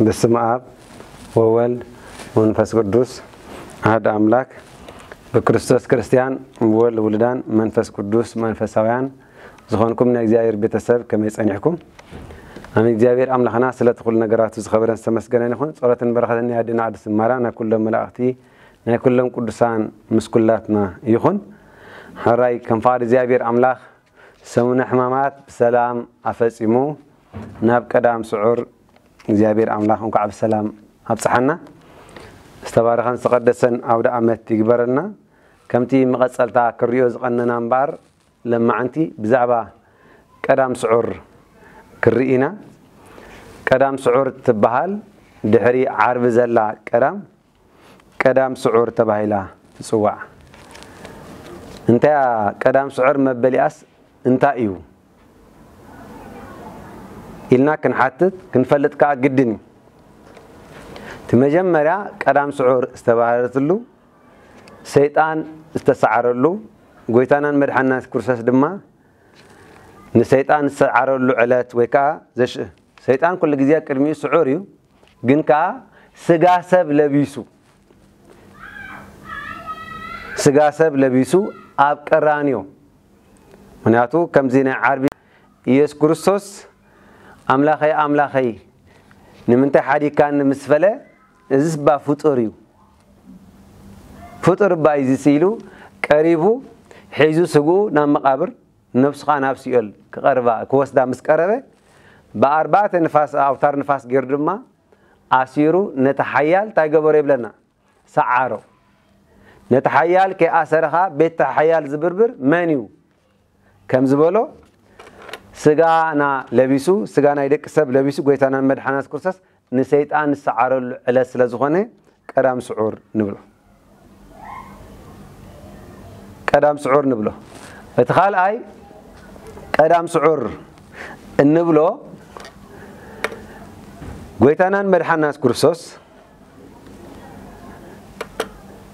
በስመ ኣብ ወወልድ ወመንፈስ ቅዱስ ኣሐድ ኣምላክ፣ ብክርስቶስ ክርስትያን፣ ብወልድ ውሉዳን፣ መንፈስ ቅዱስ መንፈሳውያን ዝኾንኩም ናይ እግዚኣብሔር ቤተሰብ ከመይ ጸኒሕኩም? ኣሜን። እግዚኣብሔር ኣምላኽና ስለቲ ኩሉ ነገራቱ ዝኸበረን ዝተመስገነን ይኹን። ጸሎትን በረኸትን ናይ ኣዴና ቅድስቲ ማርያም፣ ናይ ኩሎም መላእኽቲ፣ ናይ ኩሎም ቅዱሳን ምስ ኩላትና ይኹን። ሕራይ ከም ፍቓድ እግዚኣብሔር ኣምላኽ ሰሙነ ሕማማት ብሰላም ኣፈጺሙ ናብ ቀዳም ስዑር እግዚኣብሔር ኣምላኽ እንኳዕ ብሰላም ኣብጽሓና። ዝተባረኸን ዝተቐደሰን ኣውደ ኣመት ይግበረልና። ከምቲ መቐጸልታ ክሪኦ ዝቐነና እምበኣር ለማዓንቲ ብዛዕባ ቀዳም ስዑር ክርኢ ኢና። ቀዳም ስዑር ትበሃል ድሕሪ ዓርቢ ዘላ ቀዳም ቀዳም ስዑር ተባሂላ ትጽዋዕ። እንታያ ቀዳም ስዑር መበሊኣስ እንታይ እዩ ኢልና ክንሓትት ክንፈልጥ ከኣ ግድን እዩ። እቲ መጀመርያ ቀዳም ስዑር ዝተባህለትሉ ሰይጣን ዝተሰዓረሉ ጎይታናን መድሓናን ክርስቶስ ድማ ንሰይጣን ዝሰዓረሉ ዕለት ወይ ከዓ ዘሽ ሰይጣን ኩሉ ግዜ ቅድሚኡ ስዑር እዩ። ግን ከዓ ስጋ ሰብ ለቢሱ ስጋ ሰብ ለቢሱ ኣብ ቀራንዮ ምክንያቱ ከምዚ ናይ ዓርቢ ኢየሱስ ክርስቶስ ኣምላኸይ ኣምላኸይ ንምንታይ ሓዲካኒ ምስ በለ እዚስ እባ ፍጡር እዩ ፍጡር እባ እዩ ዝስኢሉ ቀሪቡ ሒዙ ስግኡ ናብ መቃብር ነብሱ ከዓ ናብ ሲኦል ክቐርባ ክወስዳ ምስ ቀረበ ብኣርባዕተ ንፋስ ኣውታር ንፋስ ገይሩ ድማ ኣሲሩ ነቲ ሓያል እንታይ ገበሮ ይብለና ሰዓሮ ነቲ ሓያል ከይኣሰረ ከዓ ቤት ሓያል ዝብርብር መን እዩ ከም ዝበሎ ስጋና ለቢሱ ስጋ ናይ ደቂ ሰብ ለቢሱ ጎይታናን መድሓናስ ክርስቶስ ንሰይጣን ዝሰዓረሉ ዕለት ስለ ዝኾነ ቀዳም ስዑር ንብሎ ቀዳም ስዑር ንብሎ እቲ ካልኣይ ቀዳም ስዑር እንብሎ ጎይታናን መድሓናስ ክርስቶስ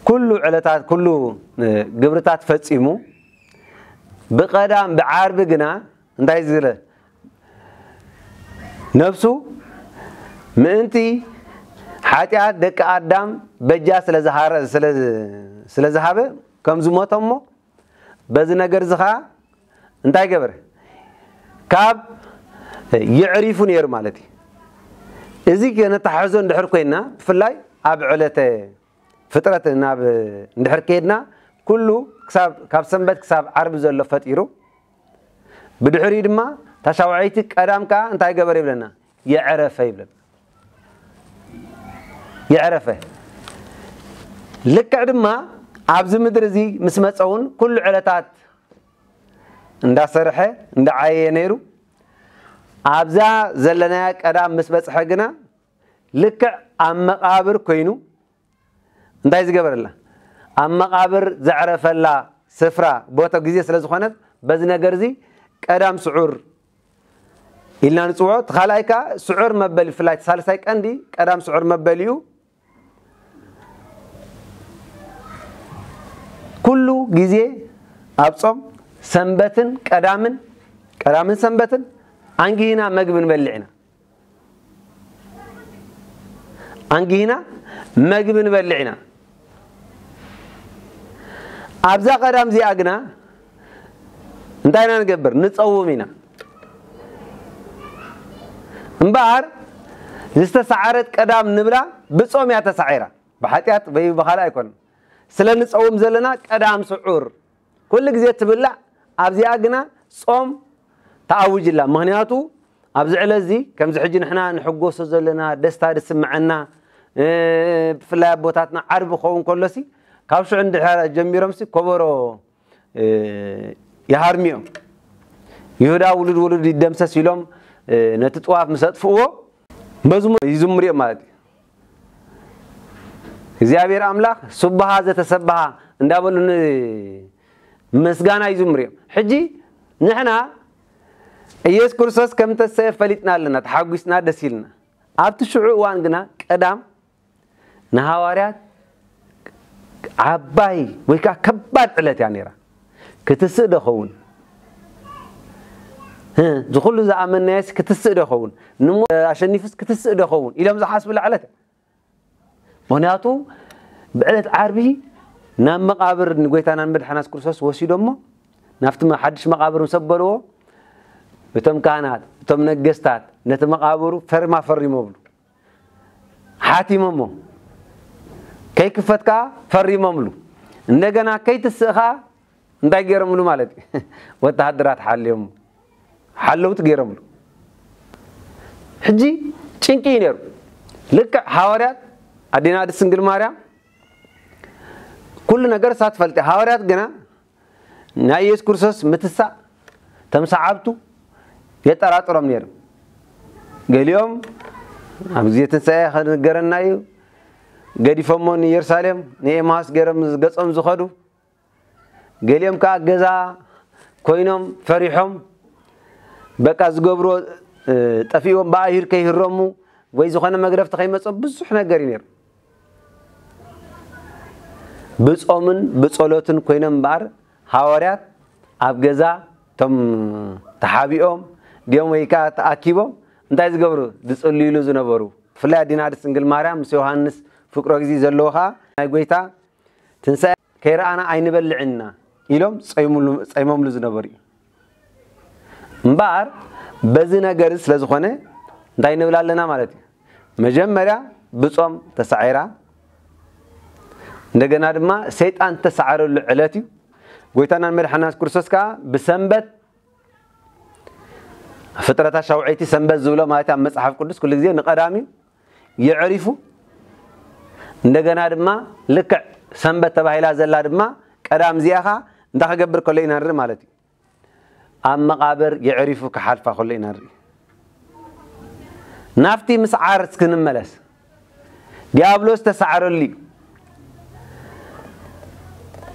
ኩሉ ዕለታት ኩሉ ግብርታት ፈጺሙ ብቐዳም ብዓርቢ ግና እንታይ ዝለ ነብሱ ምእንቲ ሓጢኣት ደቂ ኣዳም በጃ ስለ ዝሃበ ከም ዝሞተ እሞ በዚ ነገር እዚ ከዓ እንታይ ገበረ ካብ የዕሪፉ ነይሩ ማለት እዩ እዚ ነተሓሕዞ እንድሕር ኮይና ብፍላይ ኣብ ዕለተ ፍጥረት ናብ እንድሕር ከይድና ኩሉ ካብ ሰንበት ክሳብ ዓርቢ ዘሎ ፈጢሩ ብድሕሪኡ ድማ ታሻውዐይቲ ቀዳም ከዓ እንታይ ገበረ ይብለና የዕረፈ ይብለና የዕረፈ ልክዕ ድማ ኣብዚ ምድሪ እዚ ምስ መፀ እውን ኩሉ ዕለታት እንዳሰርሐ እንዳዓየየ ነይሩ ኣብዛ ዘለናያ ቀዳም ምስ በፅሐ ግና ልክዕ ኣብ መቃብር ኮይኑ እንታይ ዝገበረላ ኣብ መቃብር ዘዕረፈላ ስፍራ ቦታ ግዜ ስለ ዝኾነት በዚ ነገር እዚ ቀዳም ስዑር ኢልና ንፅውዖ እቲ ካልኣይ ከዓ ስዑር መበል ብፍላይ ሳልሳይ ቀንዲ ቀዳም ስዑር መበል እዩ ኩሉ ግዜ ኣብ ፆም ሰንበትን ቀዳምን ቀዳምን ሰንበትን ኣንጊህና መግቢ ንበልዕ ኢና ኣንጊህና መግቢ ንበልዕ ኢና ኣብዛ ቀዳም እዚኣ ግና እንታይ ኢና ንገብር ንፀውም ኢና እምበኣር ዝተሰዓረት ቀዳም ንብላ ብፆም እያ ተሳዒራ ብሓጢኣት ወይ ብካልእ ኣይኮነን ስለ ንፀውም ዘለና ቀዳም ስዑር ኩሉ ግዜ ትብላዕ ኣብዚኣ ግና ጾም ተኣውጅላ ምክንያቱ ኣብዚ ዕለት እዚ ከምዚ ሕጂ ንሕና ንሕጎሶ ዘለና ደስታ ዝስምዐና ብፍላይ ኣቦታትና ዓርቢ ክኸውን ከሎሲ ካብ ሽዑ እንድሕር ጀሚሮምሲ ኮበሮ ይሃርሚኦም ይሁዳ ውሉድ ውሉድ ይደምሰስ ኢሎም ነቲ ጥዋፍ ምስ ኣጥፍእዎ መዝሙር ይዝምሩ እዮም ማለት እዩ እግዚኣብሔር ኣምላኽ ስብሃ ዘተሰብሃ እንዳበሉ ምስጋና ይዝምሩ እዮም ሕጂ ንሕና ኢየሱስ ክርስቶስ ከም ተሰየ ፈሊጥና ኣለና ተሓጒስና ደስ ኢልና ኣብቲ ሽዑ እዋን ግና ቀዳም ንሃዋርያት ዓባይ ወይ ከዓ ከባድ ዕለት እያ ነይራ ክትስእ ዶ ኸውን እዚ ኩሉ ዝኣመናየስ ክትስእ ዶ ኸውን? ንሞ ኣሸኒፍስ ክትስእ ዶ ኸውን ኢሎም ዝሓስብሉ ዕለት። ምኽንያቱ ብዕለት ዓርቢ ናብ መቓብር ንጎይታናን መድሓናስ ክርስቶስ ወሲዶሞ፣ ናብቲ መ- ሓድሽ መቓብር ምስ ኣበልዎ፣ እቶም ካህናት፣ እቶም ነገስታት ነቲ መቓብሩ ፈርማ ፈሪሞምሉ። ሓቲሞሞ። ከይክፈት ከኣ ፈሪሞምሉ። እንደገና ከይትስእ ከኣ እንታይ ገይሮምሉ ማለት እዩ? ወተሃደራት ሓልዮሞ። ሓለውቲ ገይሮምሉ። ሕጂ ጭንቂ እዩ ነይሩ። ልክዕ ሃዋርያት ኣዴና ቅድስት ድንግል ማርያም ኩሉ ነገር እሳ ትፈልጥ። ሃዋርያት ግና ናይ ኢየሱስ ክርስቶስ ምትሳእ ተምሰዓብቱ የጠራጥሮም ነይሩ። ገሊኦም ኣብ ግዜ ትንሳኤ ከነገረና እዩ፣ ገዲፎሞ ንኢየሩሳሌም ንኤማስ ገይሮም ገጾም ዝኸዱ። ገሊኦም ከኣ ገዛ ኮይኖም ፈሪሖም፣ በቃ ዝገብሮ እ፣ ጠፊእዎም ብኣይሁድ ከይህረሙ ወይ ዝኾነ መግረፍቲ ከይመጾ ብዙሕ ነገር እዩ ነይሩ። ብጾምን ብጸሎትን ኮይኖም እምበኣር ሃዋርያት ኣብ ገዛ እቶም ተሓቢኦም ድዮም ወይ ከኣ ተኣኪቦም እንታይ ዝገብሩ? ዝጽልዩሉ ዝነበሩ። ብፍላይ ኣዴና ቅድስት ድንግል ማርያም ምስ ዮሃንስ ፍቅሮ ግዜ ዘለዎ ከኣ ናይ ጎይታ ትንሳኤ ከይረኣና ኣይንበልዕን ኢና ኢሎም ጸይሙሉ- ጸይሞምሉ ዝነበሩ እዩ። እምበኣር በዚ ነገር ስለ ዝኾነ እንታይ ንብል ኣለና ማለት እዩ? መጀመርያ ብጾም ተሳዒራ፣ እንደገና ድማ ሰይጣን ተሳዓረሉ ዕለት እዩ። ጎይታናን መድሓናን ክርስቶስ ከኣ ብሰንበት ፍጥረታት ሻውዐይቲ ሰንበት ዝብሎ ማለት ኣብ መጽሓፍ ቅዱስ ኩሉ ግዜ ንቀዳም እዩ የዕሪፉ። እንደገና ድማ ልክዕ ሰንበት ተባሂላ ዘላ ድማ ቀዳም እዚኣ ኸኣ እንታይ ክገብር ከሎ ኢና ንርኢ ማለት እዩ። ኣብ መቓብር የዕሪፉ ክሓልፋ ከሎ ኢና ንርኢ። ናብቲ ምስዓር እስኪ ንመለስ። ዲያብሎስ ተሳዕረሉ እዩ።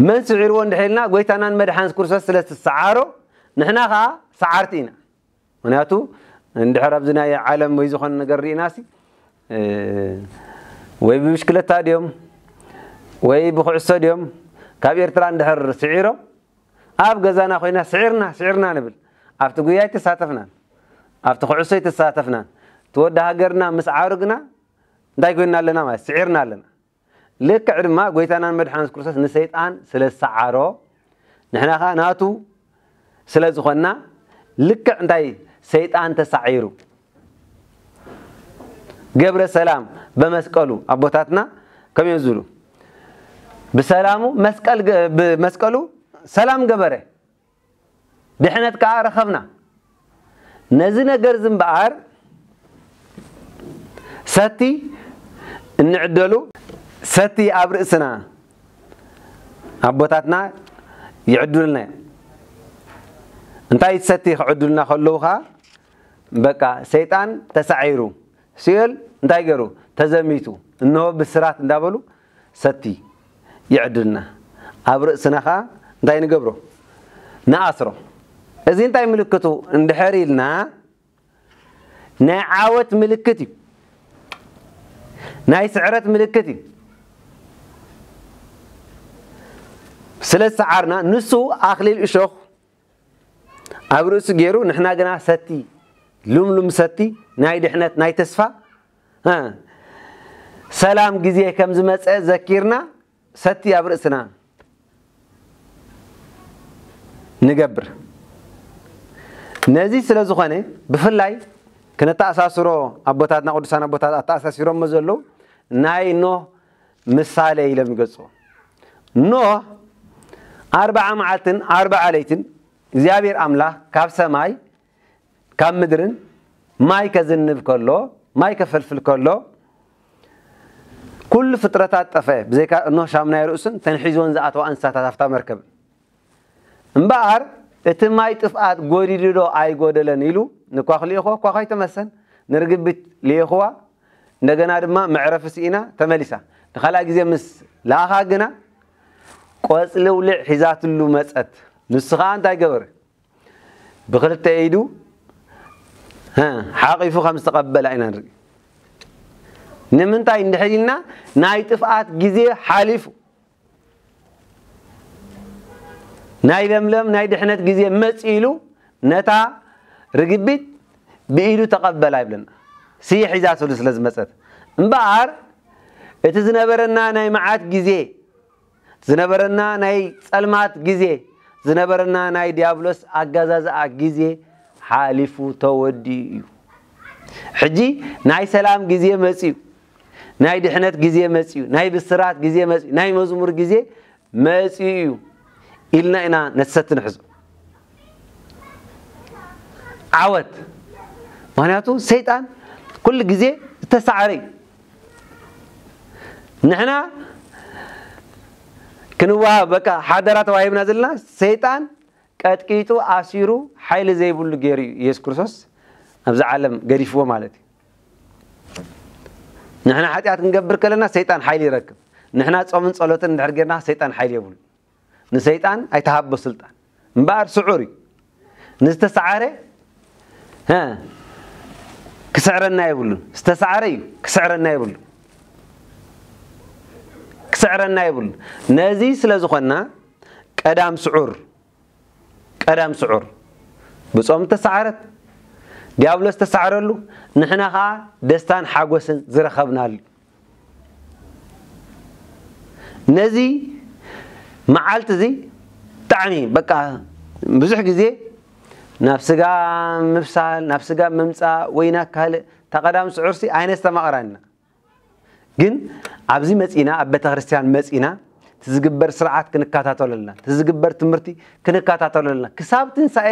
መን ስዒርዎ እንድሕር ኢልና ጎይታናን መድሓን ክርስቶስ ስለ ዝሰዓሮ ንሕና ኸኣ ሰዓርቲ ኢና። ምክንያቱ እንድሕር ኣብዚ ናይ ዓለም ወይ ዝኾነ ነገር ርኢናሲ እ፣ ወይ ብብሽክለታ ድዮም ወይ ብኩዕሶ ድዮም ካብ ኤርትራ እንድሕር ስዒሮም ኣብ ገዛና ኮይና ስዒርና ስዒርና ንብል። ኣብቲ ጉያ ኣይተሳተፍናን፣ ኣብቲ ኩዕሶ ኣይተሳተፍናን። እቲ ወዲ ሃገርና ምስዓሩ ግና እንታይ ኮይንና ኣለና ማለት ስዒርና ኣለና። ልክዕ ድማ ጎይታናን መድሓኒት ክርስቶስ ንሰይጣን ስለ ዝሰዓሮ ንሕና ኸዓ ናቱ ስለ ዝኾንና ልክዕ እንታይ ሰይጣን ተሳዒሩ ገብረ ሰላም በመስቀሉ ኣቦታትና ከም እዮም ዝብሉ ብሰላሙ መስቀል ገ- ብመስቀሉ ሰላም ገበረ ድሕነት ከዓ ረኸብና። ነዚ ነገር እዚ እምበኣር ሰቲ እንዕደሉ ሰቲ ኣብ ርእስና ኣቦታትና ይዕዱልና እዮም። እንታይ ሰቲ ክዕዱልና ከለዉ ከዓ በቃ ሰይጣን ተሳዒሩ ሲኦል እንታይ ገይሩ ተዘሚቱ እንሆ ብስራት እንዳበሉ ሰቲ ይዕድልና ኣብ ርእስና ከዓ እንታይ ንገብሮ ንኣስሮ። እዚ እንታይ ምልክቱ እንድሕር ኢልና ናይ ዓወት ምልክት እዩ። ናይ ስዕረት ምልክት እዩ። ስለ ዝሰዓርና ንሱ ኣክሊል እሾኽ ኣብ ርእሱ ገይሩ ንሕና ግና ሰቲ ሉምሉም ሰቲ ናይ ድሕነት ናይ ተስፋ እ፣ ሰላም ግዜ ከም ዝመፀ ዘኪርና ሰቲ ኣብ ርእስና ንገብር። ነዚ ስለ ዝኾነ ብፍላይ ክነተኣሳስሮ ኣቦታትና ቅዱሳን ኣቦታት ኣተኣሳሲሮሞ ዘለዉ ናይ ኖህ ምሳሌ ኢሎም ይገልፅዎ። ኖህ ኣርብዓ መዓልትን ኣርብዓ ለይትን እግዚኣብሔር ኣምላኽ ካብ ሰማይ ካብ ምድርን ማይ ከዝንብ ከሎ ማይ ከፈልፍል ከሎ ኩሉ ፍጥረታት ጠፈ ብዘይካ እኖ ሻምናይ ርእሱን ተንሒዝወን ዝኣተዋ እንስሳታት ኣብታ መርከብ እምበኣር እቲ ማይ ጥፍኣት ጎዲሉ ዶ ኣይጎደለን ኢሉ ንኳኽ ልኢኹ ኳኽ ኣይተመሰን ንርግቢት ልኢኽዋ እንደገና ድማ መዕረፊ ስኢና ተመሊሳ ንኻልኣ ግዜ ምስ ለኣኻ ግና ቆፅሊ ውልዕ ሒዛትሉ መፀት ንሱ ከዓ እንታይ ገበረ ብኽልተ ኢዱ ሓቒፉ ከም ዝተቐበላ ኢና ንርኢ። ንምንታይ እንድሕር ኢልና ናይ ጥፍኣት ግዜ ሓሊፉ ናይ ለምለም ናይ ድሕነት ግዜ መፂ ኢሉ ነታ ርግቢት ብኢዱ ተቐበላ ይብለና። ስየ ሒዛትሉ ስለ ዝመጸት። እምበኣር እቲ ዝነበረና ናይ መዓት ግዜ፣ ዝነበረና ናይ ጸልማት ግዜ፣ ዝነበረና ናይ ዲያብሎስ ኣገዛዝኣ ግዜ ሓሊፉ ተወዲኡ እዩ። ሕጂ ናይ ሰላም ግዜ መጺኡ፣ ናይ ድሕነት ግዜ መጺኡ፣ ናይ ብስራት ግዜ መጺኡ፣ ናይ መዝሙር ግዜ መጺኡ እዩ ኢልና ኢና ነቲ ሰቲ ንሕዞ። ዓወት። ምኽንያቱ ሰይጣን ኩሉ ግዜ ዝተሳዕረ እዩ። ንሕና ክንወሃብ በቃ ሓደራ ተዋሂብና ዘለና፣ ሰይጣን ቀጥቂጡ ኣሲሩ ሓይሊ ዘይብሉ ገይሩ እዩ ኢየሱስ ክርስቶስ ኣብዚ ዓለም ገዲፍዎ ማለት እዩ። ንሕና ሓጢኣት ክንገብር ከለና ሰይጣን ሓይሊ ይረክብ። ንሕና ጾምን ጸሎትን እንድሕር ጌርና ሰይጣን ሓይሊ የብሉ። ንሰይጣን ኣይተሃቦ ስልጣን። እምበኣር ስዑር እዩ። ንዝተሳዓረ ሀ፣ ክስዕረና የብሉን። ዝተሳዓረ እዩ፣ ክስዕረና የብሉን። ክስዕረና የብሉን። ነዚ ስለ ዝኾንና ቀዳም ስዑር፣ ቀዳም ስዑር ብጾም ተሳዓረት፣ ዲያብሎስ ተሳዕረሉ፣ ንሕና ኸኣ ደስታን ሓጎስን ዝረኸብናሉ። ነዚ መዓልቲ እዚ ብጣዕሚ በቃ ብዙሕ ግዜ ናብ ስጋ ምብሳል፣ ናብ ስጋ ምምጻእ ወይ ናብ ካልእ፣ እታ ቀዳም ስዑርሲ ኣይነስተማቕራን ኢና። ግን ኣብዚ መጺና፣ ኣብ ቤተ ክርስቲያን መጺና፣ እቲ ዝግበር ስርዓት ክንከታተሎ ኣለና። እቲ ዝግበር ትምህርቲ ክንከታተሎ ኣለና። ክሳብ ትንሳኤ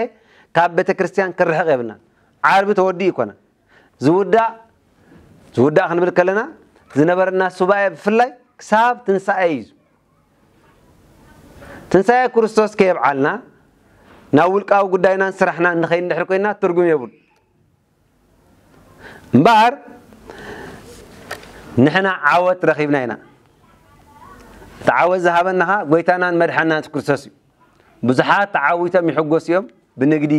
ካብ ቤተ ክርስቲያን ክርሕቕ የብልናን። ዓርቢ ተወዲኡ ይኮና። ዝውዳእ፣ ዝውዳእ ክንብል ከለና፣ ዝነበረና ሱባኤ ብፍላይ ክሳብ ትንሳኤ እዩ። ትንሳኤ ክርስቶስ ከየብዓልና፣ ናብ ውልቃዊ ጉዳይናን ስራሕናን ንኸይድ እንድሕር ኮይና፣ ትርጉም የብሉ። እምበኣር፣ ንሕና ዓወት ረኺብና ኢና። እቲ ዓወት ዝሃበና ኸኣ ጎይታናን መድሓናን የሱስ ክርስቶስ እዩ። ብዙሓት ተዓዊቶም ይሕጎሱ እዮም። ብንግዲ፣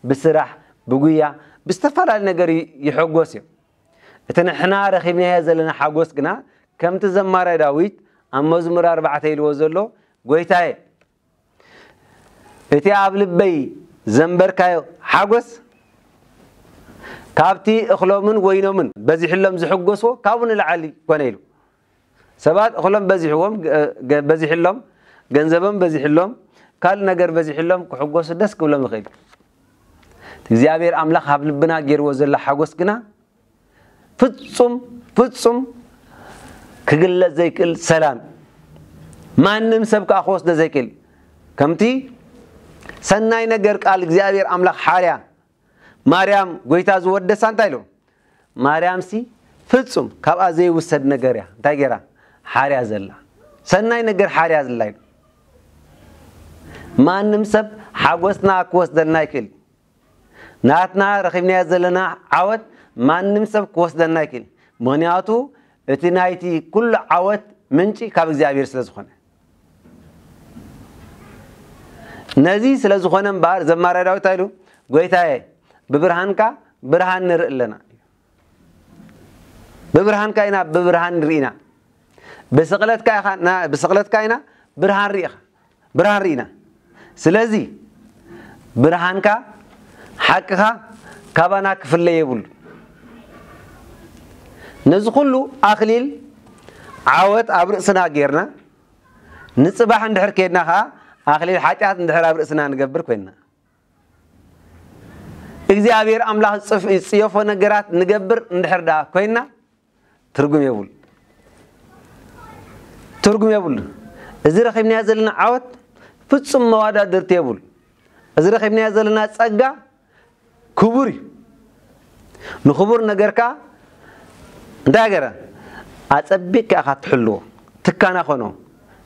ብስራሕ፣ ብጉያ፣ ብዝተፈላለዩ ነገር ይ-፣ ይሕጎሱ እዮም። እቲ ንሕና ረኺብናዮ ዘለና ሓጎስ ግና፣ ከምቲ ዘማራይ ዳዊት ኣብ መዝሙር ኣርባዕተ ኢልዎ ዘሎ፣ ጎይታየ፣ እቲ ኣብ ልበይ ዘንበርካዮ ሓጎስ፣ ካብቲ እኽሎምን ወይኖምን በዚሕሎም ዝሕጎስዎ ካብኡ ንላዕሊ ኮነ ኢሉ። ሰባት እኽሎም በዚሕዎም፣ ገ-፣ ገ-፣ በዚሕሎም፣ ገንዘቦም በዚሕሎም፣ ካልእ ነገር በዚሕሎም ክሕጎሱ ደስ ክብሎም ይኽእል። እግዚኣብሔር ኣምላኽ ኣብ ልብና ገይርዎ ዘሎ ሓጎስ ግና ፍጹም፣ ፍጹም ክግለጽ ዘይክእል ሰላም፣ ማንም ሰብ ከኣ ክወስዶ ዘይክእል፣ ከምቲ ሰናይ ነገር ቃል እግዚኣብሔር ኣምላኽ ሓርያ ማርያም ጎይታ ዝወደሳ እንታይ ኢሉ? ማርያምሲ ፍጹም ካብኣ ዘይውሰድ ነገር እያ። እንታይ ገይራ? ሓርያ ዘላ። ሰናይ ነገር ሓርያ ዘላ ኢሉ። ማንም ሰብ ሓጎስና ክወስደልና ይክእል። ናትና ረኺብናዮ ዘለና ዓወት ማንም ሰብ ክወስደልና ይክእል። ምኽንያቱ እቲ ናይቲ ኩሉ ዓወት ምንጪ ካብ እግዚኣብሔር ስለ ዝኾነ። ነዚ ስለ ዝኾነ እምበኣር ዘማሪ ዳዊት እንታይ ኢሉ? ጎይታየ፣ ብብርሃንካ ብርሃን ንርኢ ኣለና። ብብርሃንካ ኢና ብብርሃን ንርኢ ኢና። ብስቕለትካ ኢኻ፣ ና-፣ ብስቕለትካ ኢና ብርሃን ርኢኻ፣ ብርሃን ርኢና። ስለዚ ብርሃንካ፣ ሓቅኻ ካባና ክፍለ የብሉ። ነዚ ኩሉ ኣኽሊል ዓወት ኣብ ርእስና ጌርና፣ ንጽባሕ እንድሕር ኬድና ኸኣ ኣኽሊል ሓጢኣት እንድሕር ኣብ ርእስና ንገብር ኮይንና፣ እግዚኣብሔር ኣምላኽ ዝጽፍ-፣ ዝጽየፎ ነገራት ንገብር እንድሕር ደኣ ኮይንና፣ ትርጉም የብሉ። ትርጉም የብሉ። እዚ ረኺብናዮ ዘለና ዓወት ፍጹም መዋዳድርቲ የብሉ። እዚ ረኺብናዮ ዘለና ጸጋ ክቡር እዩ። ንኽቡር ነገርካ እንታይ ገረ? ኣጸቢቕካ ኢኻ ትሕልዎ። ትካናኸኖ።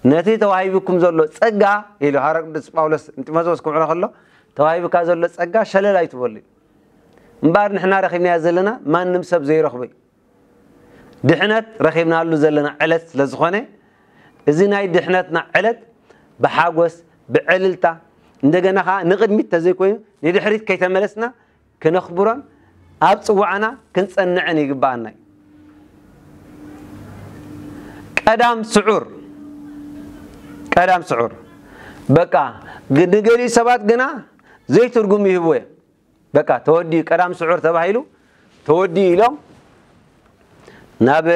ነቲ ተዋሂቡኩም ዘሎ ጸጋ፣ ኢሉ ሃዋርያ ቅዱስ ጳውሎስ ንጢሞቴዎስ ክምዕሮ ከሎ፣ ተዋሂቡካ ዘሎ ጸጋ ሸለል ኣይትበሉ። እምበኣር ንሕና ረኺብናዮ ዘለና ማንም ሰብ ዘይረኽቦ እዩ። ድሕነት ረኺብናሉ ዘለና ዕለት ስለ ዝኾነ፣ እዚ ናይ ድሕነትና ዕለት ብሓጎስ፣ ብዕልልታ፣ እንደገና ኸዓ ንቕድሚት ተዘይኮይኑ ንድሕሪት ከይተመለስና ክነኽብሮን ኣብ ጽዋዕና ክንጸንዕን ይግብኣና እዩ። ቀዳም ስዑር፣ ቀዳም ስዑር። በቃ፣ ግ-፣ ንገሊኡ ሰባት ግና ዘይትርጉም ይህብዎ እዮም። በቃ ተወዲኡ፣ ቀዳም ስዑር ተባሂሉ ተወዲኡ ኢሎም ናብ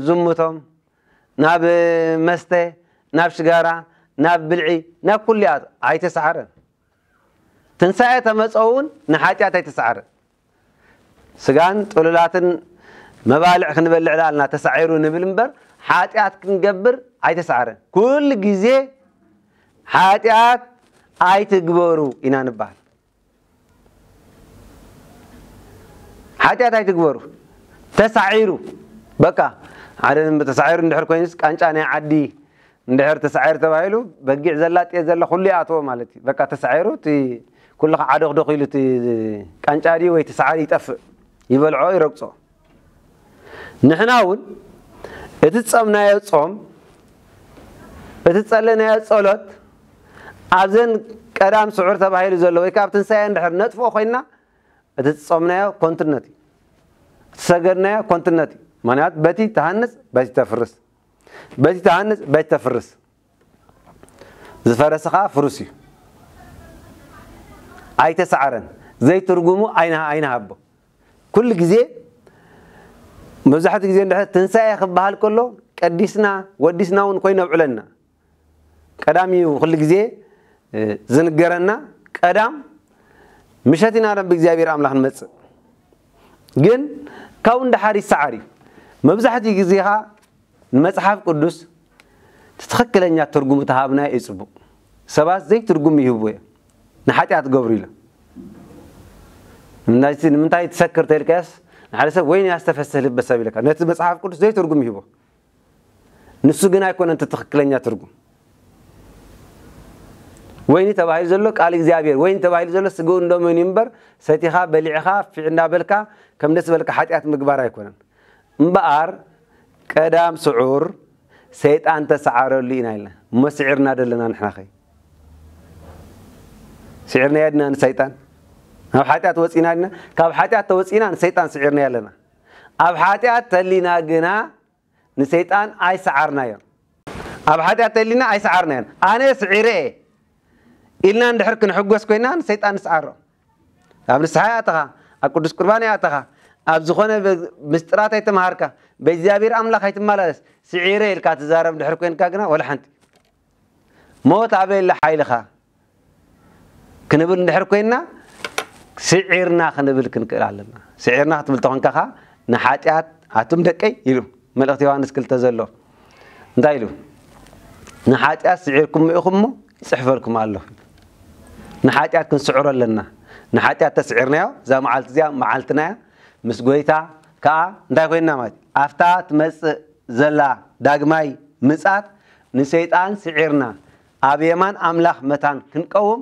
ዝሙቶም፣ ናብ መስተ፣ ናብ ሽጋራ፣ ናብ ብልዒ፣ ናብ ኩሉ ይኣትዉ። ኣይተሳዕረን። ትንሳኤ ተመጸ እውን ንሓጢኣት ኣይተሳዕረን። ስጋን ጥሉላትን መባልዕ ክንበልዕ ዳልና ተሳዒሩ ንብል እምበር፣ ሓጢኣት ክንገብር ኣይተሳዕረን። ኩሉ ግዜ ሓጢኣት ኣይትግበሩ ኢና ንበሃል። ሓጢኣት ኣይትግበሩ። ተሳዒሩ፣ በቃ፣ ሓደ ተሳዒሩ እንድሕር ኮይኑስ፣ ቃንጫ ናይ ዓዲ እንድሕር ተሳዒሩ ተባሂሉ፣ በጊዕ ዘላ፣ ጤል ዘላ፣ ኩሉ ይኣትዎ ማለት እዩ። በቃ፣ ተሳዒሩ፣ እቲ ኩሉ ከዓዶኽዶኽ ኢሉ፣ እቲ ቃንጫ ድዩ ወይ እቲ ሰዓሪ ይጠፍእ፣ ይበልዖ፣ ይረግጾ። ንሕና እውን እቲ ዝጸምናዮ ጾም፣ እቲ ዝጸለናዮ ጸሎት፣ ኣብዘን ቀዳም ስዑር ተባሂሉ ዘሎ ወይ ከኣ ኣብ ትንሳኤ እንድሕር ነጥፍኦ ኮይንና፣ እቲ ዝጾምናዮ ኮንትነት እዩ። እቲ ዝሰገድናዮ ኮንትነት እዩ። ምኽንያቱ በቲ ትሃንጽ፣ በቲ ተፍርስ። በቲ ትሃንጽ፣ በቲ ተፍርስ። ዝፈረሰ ኸኣ ፍሩስ እዩ። ኣይተሳዕረን። ዘይትርጉሙ ኣይና-፣ ኣይንሃቦ። ኩሉ ግዜ፣ መብዛሕትኡ ግዜ እንድሕር ትንሳኤ ክበሃል ከሎ፣ ቀዲስና፣ ወዲስና እውን ኮይኑ የብዕለና። ቀዳም እዩ ኩሉ ግዜ፣ እ፣ ዝንገረና። ቀዳም ምሸት ኢና ናብ እግዚኣብሔር ኣምላኽ ንመጽእ። ግን ካብኡ ንደሓር ይሰዓር እዩ። መብዛሕትኡ ግዜ ኸኣ ንመጽሓፍ ቅዱስ እቲ ትኽክለኛ ትርጉም ተሃብናዮ እዩ ጽቡቕ። ሰባት ዘይትርጉም ይህብዎ እዮም። ንሓጢኣት ገብሩ ኢሎም። ንምንታይ፣ ንምንታይ ትሰክር ተልካዮስ፣ ንሓደ ሰብ ወይን ያስተፈስህ ልበ ሰብ ይለካ። ነቲ መጽሓፍ ቅዱስ ዘይትርጉም ይህቦ። ንሱ ግን ኣይኮነን እቲ ትኽክለኛ ትርጉም። ወይኒ ተባሂሉ ዘሎ ቃል እግዚኣብሔር፣ ወይኒ ተባሂሉ ዘሎ ስግኡን ደሙን እዩ እምበር፣ ሰቲኻ፣ በሊዕኻ፣ ፊዕ እንዳበልካ፣ ከም ደስ በልካ ሓጢኣት ምግባር ኣይኮነን። እምበኣር፣ ቀዳም ስዑር ሰይጣን ተሰዓረሉ ኢና ኢልና። እሞ ስዒርና ደለና ንሕና ኸ? ስዒርናዮ ድና ንሰይጣን? ናብ ሓጢኣት ወጺና ድና? ካብ ሓጢኣት ተወጺና ንሰይጣን ስዒርናዮ ኣለና። ኣብ ሓጢኣት ተሊና ግና ንሰይጣን ኣይሰዓርናዮን። ኣብ ሓጢኣት ተሊና ኣይሰዓርናዮን። ኣነ ስዒረ እየ ኢልና እንድሕር ክንሕጎስ ኮይና ንሰይጣን ንስዓሮ። ኣብ ንስሓ ይኣተኻ፣ ኣብ ቅዱስ ቁርባን ይኣተኻ፣ ኣብ ዝኾነ ብ-፣ ምስጢራት ኣይተምሃርካ፣ ብእግዚኣብሔር ኣምላኽ ኣይትመላለስ፣ ስዒረ ኢልካ ትዛረብ እንድሕር ኮይንካ ግና ወላ ሓንቲ። ሞት ኣበይ ኣላ ሓይልኻ? ክንብል እንድሕር ኮይንና፣ ስዒርና ክንብል ክንክእል ኣለና። ስዒርና ክትብል ተኾንካ ኸኣ፣ ንሓጢኣት፣ ኣቱም ደቀይ ኢሉ፣ መልእኽቲ ዮሃንስ ክልተ ዘሎ። እንታይ ኢሉ? ንሓጢኣት ስዒርኩሞ ኢኹም እሞ፣ ይጽሕፈልኩም ኣለኹ። ንሓጢኣት ክንስዕሮ ኣለና። ንሓጢኣት ተስዒርናዮ፣ እዛ መዓልቲ እዚኣ መዓልትና እያ። ምስ ጐይታ ከኣ እንታይ ኮይንና ማለት እዩ? ኣብታ ትመጽእ ዘላ ዳግማይ ምጽኣት ንሰይጣን ስዒርና፣ ኣብ የማን ኣምላኽ መታን ክንቀውም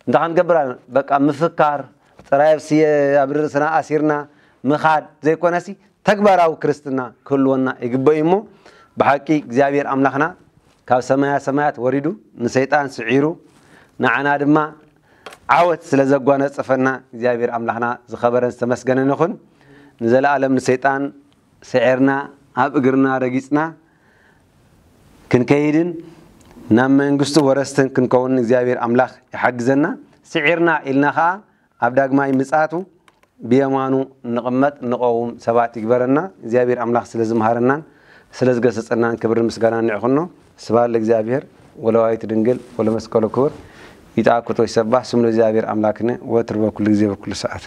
እንታይ ክንገብር ኣለና? በቃ ምፍካር ጥራይ ኣብ ስየ-፣ ኣብ ርእስና ኣሲርና ምኻድ ዘይኮነሲ፣ ተግባራዊ ክርስትና ክህልወና ይግበእ እዩ እሞ፣ ብሓቂ እግዚኣብሔር ኣምላኽና ካብ ሰማያ ሰማያት ወሪዱ ንሰይጣን ስዒሩ፣ ንዓና ድማ ዓወት ስለ ዘጓነጸፈና እግዚኣብሔር ኣምላኽና ዝኸበረን ዝተመስገነን ይኹን። ንዘለኣለም ንሰይጣን ስዒርና፣ ኣብ እግርና ረጊጽና ክንከይድን ናብ መንግስቱ ወረስትን ክንከውን እግዚኣብሔር ኣምላኽ ይሓግዘና። ስዒርና ኢልና ኸኣ ኣብ ዳግማይ ምጽኣቱ ብየማኑ ንቕመጥ፣ ንቐውም ሰባት ይግበረና። እግዚኣብሔር ኣምላኽ ስለ ዝምሃረናን ስለ ዝገሰጸናን ክብርን ምስጋናን ንዕኹኖ። ስብሐት ለእግዚኣብሔር ወለወላዲቱ ድንግል ወለመስቀሉ ክቡር። ይትሐጎስ ወይትሰባህ ስሙ ለእግዚኣብሔር ኣምላክነ ወትሩ በኩሉ ግዜ በኩሉ ሰዓት።